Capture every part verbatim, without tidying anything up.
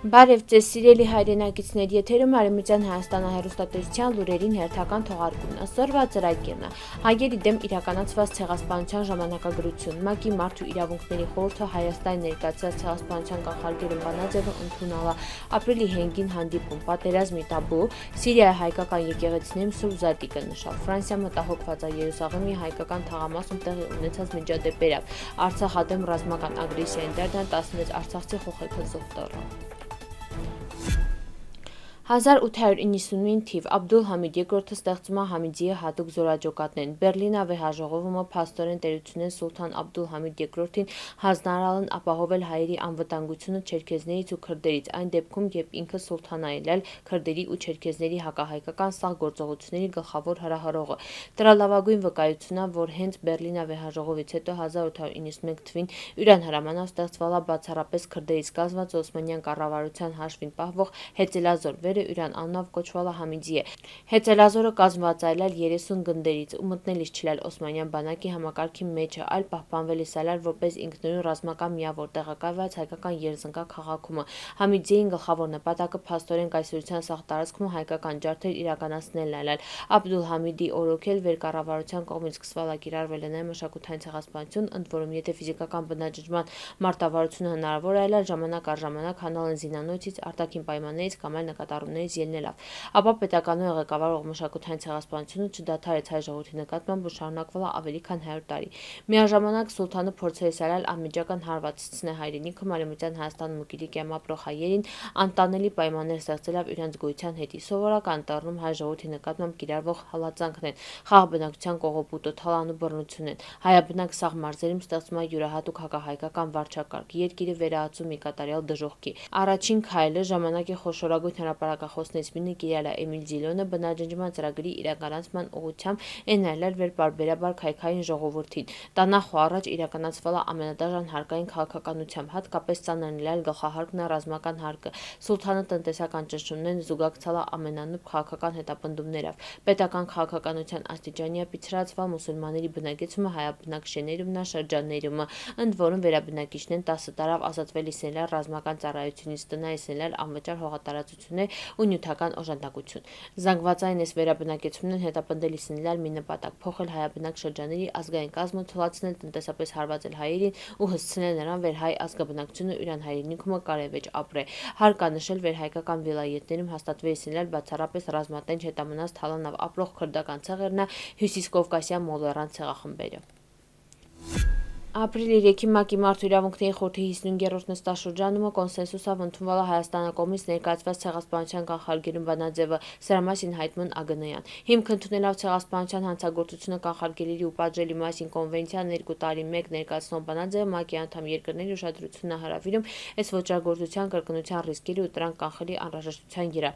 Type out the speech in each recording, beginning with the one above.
Բարև ձեզ սիրելի հայրենակիցներ, եթերում Արևմտյան Հայաստանը հեռուստատեսության լուրերին հերթական թողարկումն։ Այսօրվա ծրագիրն է հայերի դեմ իրականացված ցեղասպանության ժամանակագրություն, ՄԱԿ-ի Մարդու իրավունքների խորհուրդը Հայաստանի ներկայացրած ցեղասպանության կանխարգելում բանաձևը ընդունել է, ապրիլի հինգին հանդիպում, պատերազմի տաբու, Սիրիայի հայկական եկեղեցիներում Սուրբ Զատիկը նշավ, Ֆրանսիա մտահոգված է Երուսաղեմի հայկական թաղամասում տեղի ունեցած միջադեպերով, Արցախ դեմ ռազմական ագրեսիային դերն տասնվեց արցախցի խոխեքածող տառը։ հազար ութ հարյուր իննսունինը թիվ Աբդուլ Համիդ երկրորդը ստեղծում է Համիդիի հատուկ զորաճոկատներն։ Բերլին ավեհաժողովումը փաստորեն տերությունեն Սուլթան Աբդուլ Համիդ երկրորդին հանձնարարել ապահովել հայերի անվտանգությունը չերքեզներից ու քրդերից, այն դեպքում, երբ ինքը Սուլթանն է ելել քրդերի ու չերքեզների հակահայկական սաղ գործողությունների գլխավոր հրահրողը։ Դրա լավագույն վկայությունն է, որ հենց Բերլին ավեհաժողովից հետո հազար ութ հարյուր իննսունմեկ թվին Իրան հրամանով ստեղծվել է բացառապես քրդերից կազմված Օսմանյան կառավարության հաշվին պահվող Հեծելազոր վերը Իրան անունով կոչվելը Համիդիե։ Հեծելազորը կազմված է այլ երեսուն գնդերից ու մտնելիս չլալ Օսմանյան բանակի համակարգի մեջը, այլ պահպանվելիս այլ որպես ինքնուրույն ռազմական միավոր տեղակայված հայկական Երզնկա քաղաքումը։ Համիդիեի գլխավոր նպատակը փաստորեն կայսրության սաղ տարածքում հայկական ջարդեր իրականացնելն այլ Աբդուլ Համիդի օրոքել վերկառավարության կողմից սկսվել է կիրառվել է նաև մշակութային ցեղասպանություն, ընդ որում եթե ֆիզիկական բնաջնջման մարտավարությունը հնարավոր է այլ ժամանակ առ ժամանակ հանալ են զինանոցից, արտաքին պայմաններից կամ այլ նկատառումներից ելնելով, ապա պետականորեն ղեկավարող մշակութային ցեղասպանությունը չդադարեց հայ ժողովրդի նկատմամբ ու շարունակվել է ավելի քան հարյուր տարի։ Միաժամանակ Սուլթանը փորձել է սարալ անմիջական հարվածացնել հայրենիքը Արևմտյան Հայաստանում ու Կիլիկիայում ապրող հայերին, անտանելի պայմաններ ստեղծելով իրենց գոյության հետի։ Սովորական տառնում հայ ժողովրդի նկատմամբ կիրառվող հալածանքն են, խաղ բնակչության կողոպուտը, թալանու բռնությունն են, հայաբնակ սաղ մարզերում ստեղծում է յուրահատուկ հակահայկական վարչակարգ, երկիրը վերահացում մի կատարյալ դժոխքի։ Առաջին քայլը ժամանակի խոշորագույն հրապարակախոսներից մեկը կիրել է Էմիլ Զիլոնը բնաջնջման ծրագրի իրականացման ուղղությամբ էնայլել վերբարբերաբար քայքային ժողովրդին։ Տանախ ու առաջ իրականացվել է ամենադաժան հարկային քաղաքականությամբ, հատկապես ծանրել գլխահարկն է ռազմական հարկը։ Սուլթանը տնտեսական ճնշումներն զուգակցել է ամենանուբ քաղաքական հետապնդումներով։ Պետական քաղաքականության աստիճանի է պիցրացվել մուսուլմանների բնակեցումը հայաբնակ շեներում նա շրջաններում, ընդ որում վերաբնակիչներն տասը տարավ ազատվելիս են ռազմական ծառայությունից, տնայից են անվճար հողատարածություններ ու նյութական օժանդակություն։ Զանգվածային այս վերաբնակեցումներն հետապնդելիս են մի նպատակ՝ փոխել հայաբնակ շրջանների ազգային կազմը, թույլատրել տնտեսապես հարվածել հայերին ու հսցնել նրան վեր հայ ազգաբնակչությունը իրան հայրենիքում կարևեջ ապրե։ Հարկ է նշել վերհայկական վիլայեթներում հաստատվելիս են բացառապես ռազմատենչ հետամնաց թալանավ ապրող քրդական ցեղերն է հյուսիսկովկասյան մոլեռան ցեղախմբերը։ Ապրիլի երեքի ՄԱԿ-ի Մարդու իրավունքների խորհրդի հիսունհինգերորդ նստաշրջանումը կոնսենսուսով ընդունվել է Հայաստանի կողմից ներկայացված ցեղասպանության կանխարգելում բանաձևը, սրա մասին հայտնում Ագնոյան։ Հիմք ընդունելով ցեղասպանության հանցագործությունը կանխարգելելի ու պատժելի մասին կոնվենցիան երկու տարի մեկ ներկայացնող բանաձևը ՄԱԿ-ի անդամ երկրների ուշադրությունն է հրավիրում այս ոճրագործության կրկնության ռիսկերի ու դրանք կանխելի անհրաժեշտության վրա։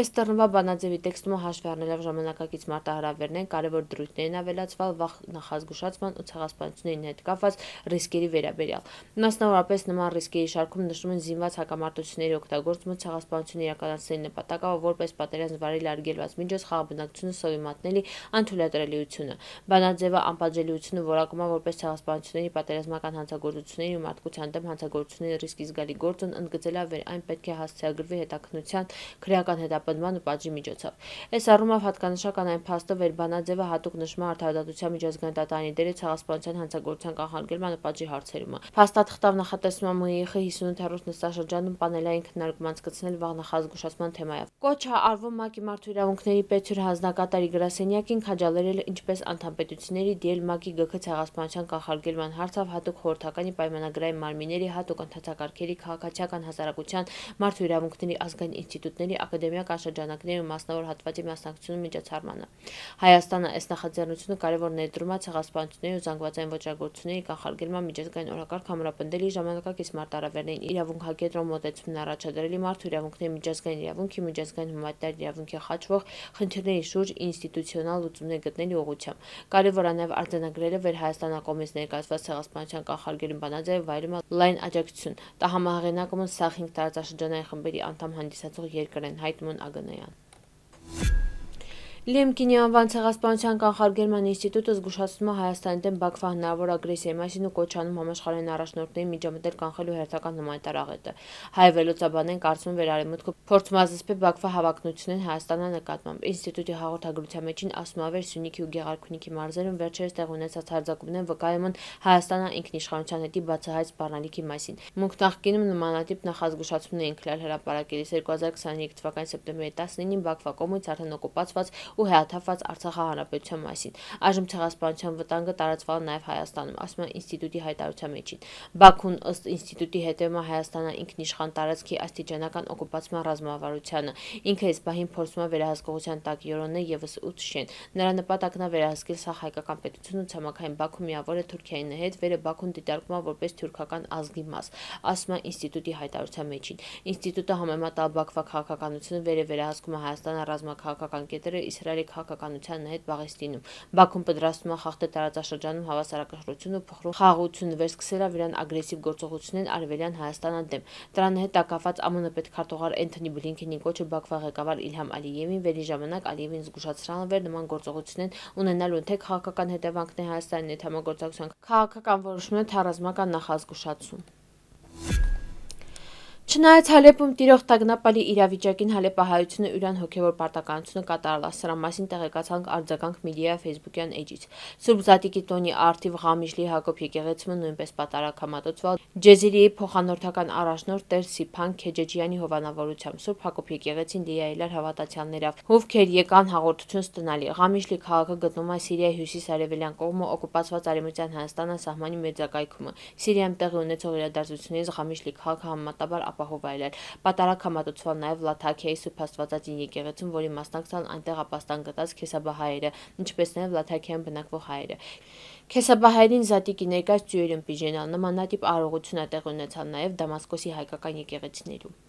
Այս տռնվա բանաձևի տեքստումը հաշվի առնելով ժամանակակից մարտահրավերներն կարևոր դրույթներ են ավելացվել վաղ նախազգուշացման ու ցեղասպանությունների հետ կապված ռիսկերի վերաբերյալ։ Մասնավորապես նման ռիսկերի շարքում նշվում են զինված հակամարտությունների օգտագործումը ցեղասպանություն իրականացնելու նպատակով որպես պատերազմ վարել արգելված միջոց խաղ բնակչությունը սովի մատնելի անթույլատրելիությունը։ Բանաձևը անպատժելիությունը որակում է որպես ցեղասպանությունների պատերազմական հանցագործությունների ու մարդկության դեմ հանցագործությունների ռիսկի զգալի գործոն, ընդգծելով որ այն պետք է հասցեագրվի հետաքննության, քրեական հետապնդման ու պատժի միջոցով։ Այս առումով հատկանշական այն փաստը, որ բանաձևը հատուկ նշում է արդարադատության միջազգային դատարանի դերը ցեղասպանության հանցագործության կանխարգելման ու պատժի հարցերում։ Փաստաթղթով նախատեսվում է ՄԻԽ հիսունութերորդ նստաշրջանում պանելային քննարկում անցկացնել վաղ նախազգուշացման թեմայով։ Կոչ է արվում ՄԱԿ-ի Մարդու իրավունքների պետ հանձնակատարի գրասենյակին քաջալերել ինչպես անդամպետությունների դիել ՄԱԿ-ի ԳՔ ցեղասպանության կանխարգելման հարցով հատուկ խորհրդականի պայմանագրային մարմինների, հատուկ ընթացակարգերի, քաղաքացիական հասարակության, մարդու իրավունքների ազգային ինստիտուտների, ակադեմիական շրջանակների ու մասնավոր հատվածի մասնակցությունը միջոցառմանը։ Հայաստանը այս նախաձեռնությունը կարևոր ներդրում է ցեղասպանությունների ու զանգվածային ոճրագործությունների կանխարգելման միջազգային օրակարգ համապնդելի ժամանակակից մարտահրավերներին իրավունքակետրոն մոտեցումն առաջադրելի մարդու իրավունքների միջազգային իրավունքի, միջազգային հումանիտար իրավունքի խաչվող խնդիրների շուրջ ինստիտուցիոնալ լուծումներ գտնելու ուղղությամբ։ Կարևոր է նաև արձանագրելը, որ Հայաստանի կողմից ներկայացված ցեղասպանության կանխարգելում բանաձևը վայելում է լայն աջակցություն։ Դա համահեղինակում են սաղ հինգ տարածաշրջանային խմբերի անդամ հանդիսացող երկրներ, հայտնում են Ագնոյան։ Լեմկինի անվան ցեղասպանության կանխարգելման ինստիտուտը զգուշացնում է Հայաստանի դեմ Բաքվա հնարավոր ագրեսիայի մասին ու կոչ անում համաշխարհային առաջնորդներին միջամտել կանխելու հերթական հումանիտար աղետը։ Հայ վերլուծաբաններն կարծում են, վերարեմուտքը փորձում է զսպել Բաքվա հավակնություններին Հայաստանի նկատմամբ։ Ինստիտուտի հաղորդագրության մեջին ասում է, որ Սյունիքի ու Գեղարքունիքի մարզերում վերջերս տեղ ունեցած հարձակումներն վկայում են Հայաստանի ինքնիշխանության հետի բացահայտ սպառնալիքի մասին։ Մունք նախկինում նմանատիպ նախազգուշացումներ էին քլալ հրապարակելիս երկու հազար քսաներեք թվականի սեպտեմբերի տասնինին Բաքվա կողմից արդեն օկուպացված ու հեաթափված Արցախի հանրապետության մասին։ Այժմ ցեղասպանության վտանգը տարածվել է նաև Հայաստանում, ասում է ինստիտուտի հայտարարության մեջին։ Բաքուն ըստ ինստիտուտի հետևում է Հայաստանի ինքնիշխան տարածքի աստիճանական օկուպացման ռազմավարությանը։ Ինքը այս պահին փորձում է վերահսկողության տակ յորոնել ևս ութ շեն։ Նրա նպատակն է վերահսկել սա հայկական պետությունը ցամաքային Բաքու միավոր է Թուրքիայի հետ, վերը Բաքուն դիտարկում է որպես թուրքական ազգի մաս, ասում է ինստիտուտի հայտարարության մեջին։ Ինստիտուտը համեմատալ Բաքվա քաղաքականությունը վերը վերահսկում է Հայաստանի ռազմաքաղաքական կետերը Իսրայելի քաղաքականության հետ Պաղեստինում։ Բաքուն պատրաստվում է խախտել տարածաշրջանում հավասարակշռություն ու փխրուն խաղաղություն վերսկսել Իրան ագրեսիվ գործողություններ արևելյան Հայաստանի դեմ։ Դրան հետ կապված ԱՄՆ պետքարտուղար Էնթոնի Բլինքենի կոչը Բաքվա ղեկավար Իլհամ Ալիևին վերի ժամանակ Ալիևին զգուշացրել վեր նման գործողություններ ունենալու թե քաղաքական հետևանքներ Հայաստանի հետ համագործակցության քաղաքական որոշումներ թե ռազմական նախազգուշացում։ Չնայած Հալեպում տիրող տագնապալի իրավիճակին հալեպահայությունը ուրան հոգևոր պարտականությունը կատարել է, սրա մասին տեղեկացանք արձագանք մեդիա ֆեյսբուքյան էջից։ Սուրբ Զատիկի տոնի արդիվ Ղամիշլի Հակոբ եկեղեցումը նույնպես պատարագամատուցվել Ջեզիրիի փոխանորդական առաջնորդ Տեր Սիփան Քեջեջյանի հովանավորությամբ։ Սուրբ Հակոբ եկեղեցին դիայելար հավատացյալներով, ովքեր եկան հաղորդություն ստանալի։ Ղամիշլի քաղաքը գտնվում է Սիրիայի հյուսիս-արևելյան կողմը օկուպացված Արևմտյան Հայաստանի սահմանի մերձակայքում։ Սիրիայում տեղի ունեցող իրադարձություններից Ղամիշլի քաղաքը համեմատաբար ապահով էր։ Պատարագ համատուցվել նաև Լաթաքիայի Սուրբ Աստվածածին եկեղեցում, որի մասնակցան այնտեղ ապաստան գտած քեսաբահայերը, ինչպես նաև Լաթաքիայում բնակվող հայերը։ Քեսաբահայերին Զատիկի ներկայ ծույերում պիժենալ նմանատիպ արարողություն է տեղի ունեցել նաև Դամասկոսի հայկական եկեղեցիներում։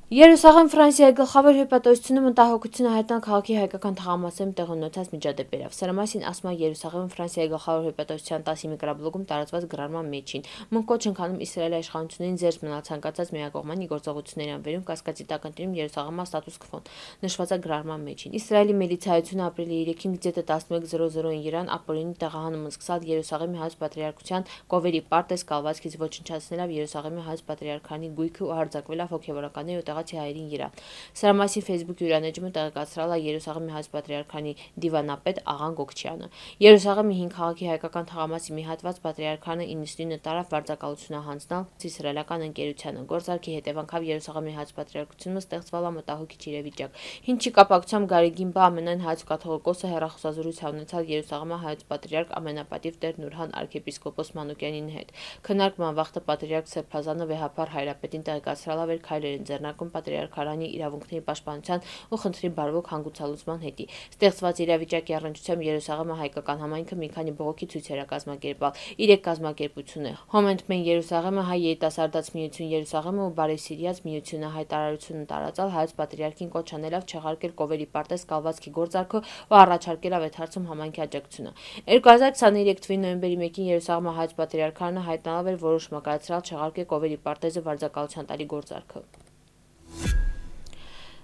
Երուսաղեմ Ֆրանսիայի գլխավոր հյուպատոսությունը մտահոգությունը հայտնան քաղաքի հայկական թաղամասերում տեղի ունեցած միջադեպերով։ Սրա մասին ասում է Երուսաղեմ Ֆրանսիայի գլխավոր հյուպատոսության տասի միկրոբլոգում տարածված գրառման մեջին։ Մունք կոչ են անում Իսրայելի իշխանություններին զերծ մնալ ցանկացած միակողմանի գործողությունների անվերում կասկածի տակ ընտրում Երուսաղեմի ստատուս քվոն, նշված է գրառման մեջին։ Իսրայելի միլիցիայությունը ապրիլի երեքին գեթը տասնմեկ զրո զրոին Իրան ապօրինի տեղահանումը սկսալ Երուսաղեմի հայոց պատրիարքության կովերի պարտեզ կալվածքից ոչնչացնելով Երուսաղեմի հայոց պատրիարքանի գույքը ու հարձակվելով հոգևորականների ու հայերին Իրան։ Սրա մասին Facebook յուրանեջումը տեղեկացրել է Երուսաղեմի հայոց պատրիարքանի դիվանապետ Աղան Գոկչյանը։ Երուսաղեմի հին քաղաքի հայկական թաղամասի մի հատված պատրիարքանը իննսունինը տարավ վարձակալությունը հանձնալ իսրայելական ընկերությանը։ Գործարքի հետևանքով Երուսաղեմի հայոց պատրիարքությունը ստեղծվել է մտահոգիչ իրավիճակ։ Հինչի կապակցությամբ Գարեգին բա ամենայն հայոց կաթողիկոսը հեռախոսազրույց ունեցավ Երուսաղեմի հայոց պատրիարք ամենապատիվ Տեր Նուրհան arczepiskopos Մանուկյանին հետ։ Քննարկման վաղտը պատրիարք Սերբազանը վեհապար հայրապետին տեղեկացրել է քայլեր են ձեռնարկում պատրիարքարանի իրավունքների պաշտպանության ու խնդրի բարվոք հանգուցալուծման հետի։ Ստեղծված իրավիճակի առնչությամբ Երուսաղեմի հայկական համայնքը մի քանի բողոքի ցույցեր է կազմակերպել։ Իրեք կազմակերպությունը Հոմենտմեն Երուսաղեմը, Հայ երիտասարդաց միություն Երուսաղեմը ու Բարի Սիրիաց միությունը հայտարարություն տարածալ հայոց պատրիարքին կոչ անելով չեղարկել կովերի պարտեզ կալվածքի գործարքը ու առաջարկել այդ հարցում համայնքի աջակցությունը։ երկու հազար քսաներեք թվականի նոյեմբերի մեկին Երուսաղեմի հայոց պատրիարքարանը հայտնաբերել էր որոշում կայացրել չեղարկել կովերի պարտեզը վարձակալության տալի գործարքը։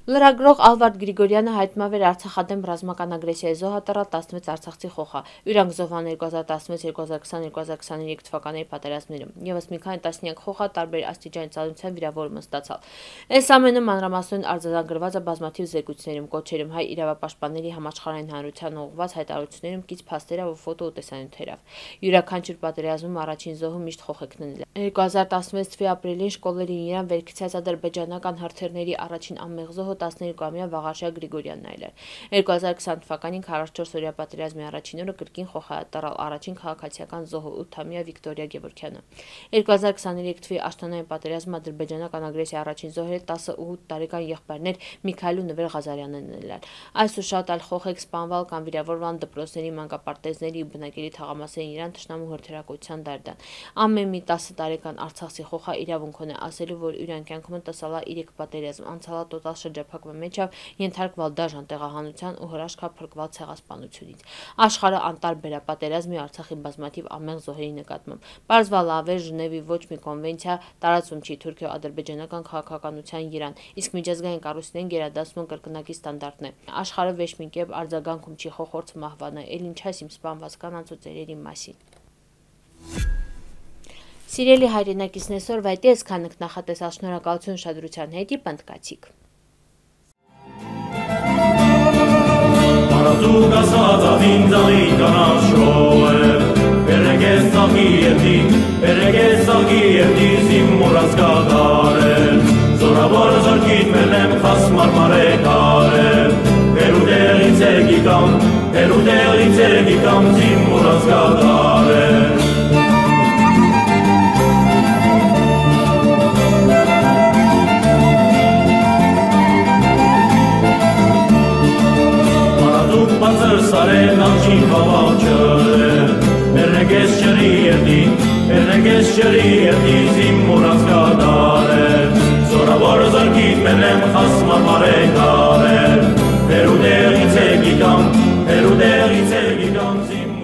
Լրագրող Ալվարդ Գրիգորյանը հայտնվել էր Արցախադեմ ռազմական ագրեսիայի զոհատռալ տասնվեց արցախցի խոխա։ Իրանք զոհան երկու հազար տասնվեց երկու հազար քսան երկու հազար քսաներեք թվականների պատերազմներում։ Եվս մի քանի տասնյակ խոխա տարբեր աստիճանի ծանրության վիրավորում ստացալ։ Այս ամենը մանրամասն արձանագրված է բազմաթիվ զեկույցներում, կոչերում, հայ իրավապաշտպանների համաշխարհային հանրության ուղղված հայտարարություններում, կից փաստերով ու ֆոտո ու տեսանյութերով։ Յուրաքանչյուր պատերազմում առաջին զոհը միշտ խոխեքն է։ երկու հազար տասնվեց թվականի ապրիլին շկոլերին Իրան վերքցած ադրբեջանական հրթիռների առաջին անմեղ զոհը տասներկուամյա Վաղարշակ Գրիգորյանն այլ էր։ երկու հազար քսան թվականին քառասունչորս-օրյա պատերազմի առաջին օրը կրկին խոխատռալ առաջին քաղաքացիական զոհը ութամյա Վիկտորիա Գևորգյանը։ երկու հազար քսաներեք թվականի աշտանային պատերազմում ադրբեջանական ագրեսիայի առաջին զոհերը տասնութ տարեկան եղբայրներ Միքայել ու Նվեր Ղազարյանն են։ Այս ու շատ այլ խոխեկ սպանվել կամ վիրավորվել դպրոցների, մանկապարտեզների ու բնակելի թաղամասերին Իրան թշնամու հրթիռակոծության դարդան։ Ամեն մի տասը տարեկան արցախցի խոխա իրավունք ունի ասելու, որ իրան կյանքում տեսալա իրեք պատերազմ, անցալա տոտալ շրջապատի եզրափակման մեջավ ենթարկվալ դաժան տեղահանության ու հրաշքա փրկվալ ցեղասպանությունից։ Աշխարհը անտարբեր է պատերազմի Արցախի բազմաթիվ ամեղ զոհերի նկատմամբ։ Պարզվալ ավեր Ժնևի ոչ մի կոնվենցիա տարածում չի թուրքիո-ադրբեջանական քաղաքականության երան, իսկ միջազգային կառույցներին գերադասում են կրկնակի ստանդարտներ։ Աշխարհը ոչ մի կերպ արձագանքում չի խոխորձ մահվանը, էլ ինչ այս իմ սպանված կանանց ու ծերերի մասին։ Սիրելի հայրենակիցներ, սորվա այդ ես քանք նախատեսած շնորհակալություն ուշադրության հետի պնդկացիք։ Դուք ասած ավին ձալի կանաշոը, բերեգես ծաղի երդի, բերեգես ծաղի երդի զիմուրած կադարել, զորավոր զորքիտ մենեմ խաս մարմարեք արել, հերուդեղից էգիկամ, հերուդեղից էգիկամ զիմուրած կադարել։ Բացր սարեն աղջին բավաճել, բերնեգես չրի երդի, բերնեգես չրի երդի զիմուրած կադարել, զորավոր զորքիտ մենեմ խաս մարմարեք արել, հերուդեղից էգիկամ, հերուդեղից էգիկամ զիմուրած